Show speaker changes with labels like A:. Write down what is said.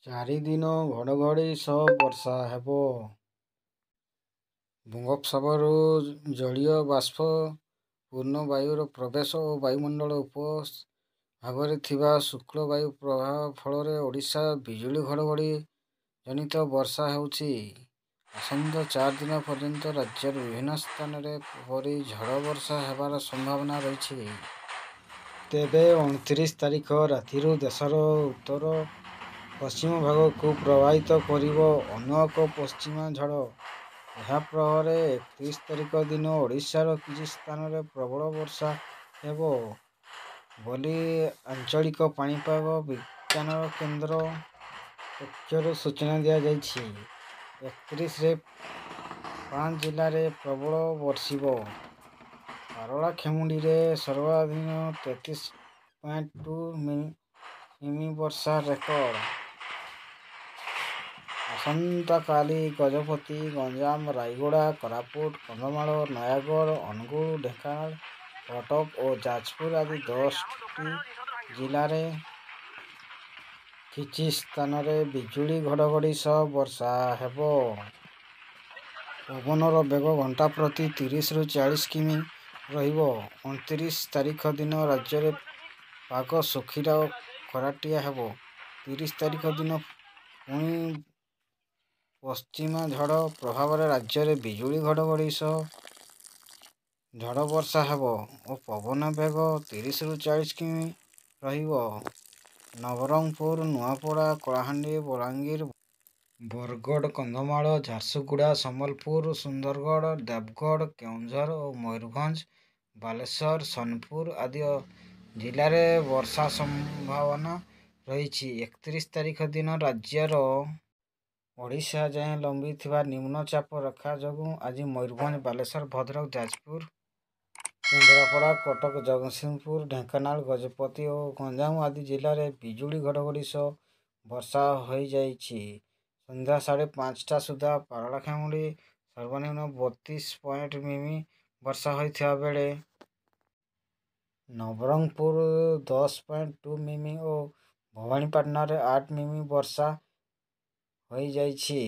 A: ଚାରି ଦିନ ଘଡ଼ଘଡ଼ି ସହ ବର୍ଷା ହେବ। ବଙ୍ଗୋପସାଗରରୁ ଜଳୀୟ ବାଷ୍ପ ପୂର୍ଣ୍ଣ ବାୟୁର ପ୍ରବେଶ ଓ ବାୟୁମଣ୍ଡଳର ଉପର ଭାଗରେ ଥିବା ଶୁଷ୍କ ବାୟୁର ପ୍ରବାହ ଫଳରେ ଓଡ଼ିଶାରେ ବିଜୁଳି ଘଡ଼ଘଡ଼ି ଜନିତ ବର୍ଷା ହେଉଛି। ଆସନ୍ତା 4 ଦିନ ପର୍ଯ୍ୟନ୍ତ ରାଜ୍ୟର ବିଭିନ୍ନ ସ୍ଥାନରେ ଏପରି ଝଡ଼ ବର୍ଷା ହେବାର ସମ୍ଭାବନା ରହିଛି। ତେବେ 29 ତାରିଖ ରାତିରୁ ଦେଶର ଉତ୍ତର ପଶ୍ଚିମ ଭାଗକୁ ପ୍ରବାହିତ କରିବ ଅନ୍ୟ ଏକ ପଶ୍ଚିମା ଝଡ଼। ଏହା ପ୍ରଭାବରେ 31 ତାରିଖ ଦିନ ଓଡ଼ିଶାର କିଛି ସ୍ଥାନରେ ପ୍ରବଳ ବର୍ଷା ହେବ ବୋଲି ଆଞ୍ଚଳିକ ପାଣିପାଗ ବିଜ୍ଞାନ କେନ୍ଦ୍ର ପକ୍ଷରୁ ସୂଚନା ଦିଆଯାଇଛି। 31ରେ ପାଞ୍ଚ ଜିଲ୍ଲାରେ ପ୍ରବଳ ବର୍ଷିବ। ପାରଳାଖେମୁଣ୍ଡିରେ ସର୍ବାଧିକ 33.2 ମିମି ବର୍ଷା ରେକର୍ଡ। ଆସନ୍ତାକାଲି ଗଜପତି, ଗଞ୍ଜାମ, ରାୟଗଡ଼ା, କୋରାପୁଟ, କନ୍ଧମାଳ, ନୟାଗଡ଼, ଅନୁଗୁଳ, ଢେଙ୍କାନାଳ, କଟକ ଓ ଯାଜପୁର ଆଦି 10ଟି ଜିଲ୍ଲାରେ କିଛି ସ୍ଥାନରେ ବିଜୁଳି ଘଡ଼ଘଡ଼ି ସହ ବର୍ଷା ହେବ। ପବନର ବେଗ ଘଣ୍ଟା ପ୍ରତି 30ରୁ 40 କିମି ରହିବ। 29 ତାରିଖ ଦିନ ରାଜ୍ୟରେ ପାଗ ଶୁଖିଲା ଓ ଖରାଟିଆ ହେବ। 30 ତାରିଖ ଦିନ ପୁଣି ପଶ୍ଚିମା ଝଡ଼ ପ୍ରଭାବରେ ରାଜ୍ୟରେ ବିଜୁଳି ଘଡ଼ଘଡ଼ି ସହ ଝଡ଼ ବର୍ଷା ହେବ ଓ ପବନ ବେଗ 30ରୁ 40 କିମି ରହିବ। ନବରଙ୍ଗପୁର, ନୂଆପଡ଼ା, କଳାହାଣ୍ଡି, ବଲାଙ୍ଗୀର, ବରଗଡ଼, କନ୍ଧମାଳ, ଝାରସୁଗୁଡ଼ା, ସମ୍ବଲପୁର, ସୁନ୍ଦରଗଡ଼, ଦେବଗଡ଼, କେଉଁଝର ଓ ମୟୂରଭଞ୍ଜ, ବାଲେଶ୍ୱର, ସୋନପୁର ଆଦି ଜିଲ୍ଲାରେ ବର୍ଷା ସମ୍ଭାବନା ରହିଛି। 31 ତାରିଖ ଦିନ ରାଜ୍ୟର ଓଡ଼ିଶା ଯାଏଁ ଲମ୍ବିଥିବା ନିମ୍ନଚାପ ରେଖା ଯୋଗୁଁ ଆଜି ମୟୂରଭଞ୍ଜ, ବାଲେଶ୍ୱର, ଭଦ୍ରକ, ଯାଜପୁର, କେନ୍ଦ୍ରାପଡ଼ା, କଟକ, ଜଗତସିଂହପୁର, ଢେଙ୍କାନାଳ, ଗଜପତି ଓ ଗଞ୍ଜାମ ଆଦି ଜିଲ୍ଲାରେ ବିଜୁଳି ଘଡ଼ଘଡ଼ି ସହ ବର୍ଷା ହୋଇଯାଇଛି। ସନ୍ଧ୍ୟା 5:30ଟା ସୁଦ୍ଧା ପାରଳାଖେମୁଣ୍ଡି ସର୍ବନିମ୍ନ 32 ପଏଣ୍ଟ ମିମି ବର୍ଷା ହୋଇଥିବା ବେଳେ ନବରଙ୍ଗପୁର 10.2 ମିମି ଓ ଭବାନୀପାଟଣାରେ 8 ମିମି ବର୍ଷା ହୋଇଯାଇଛି।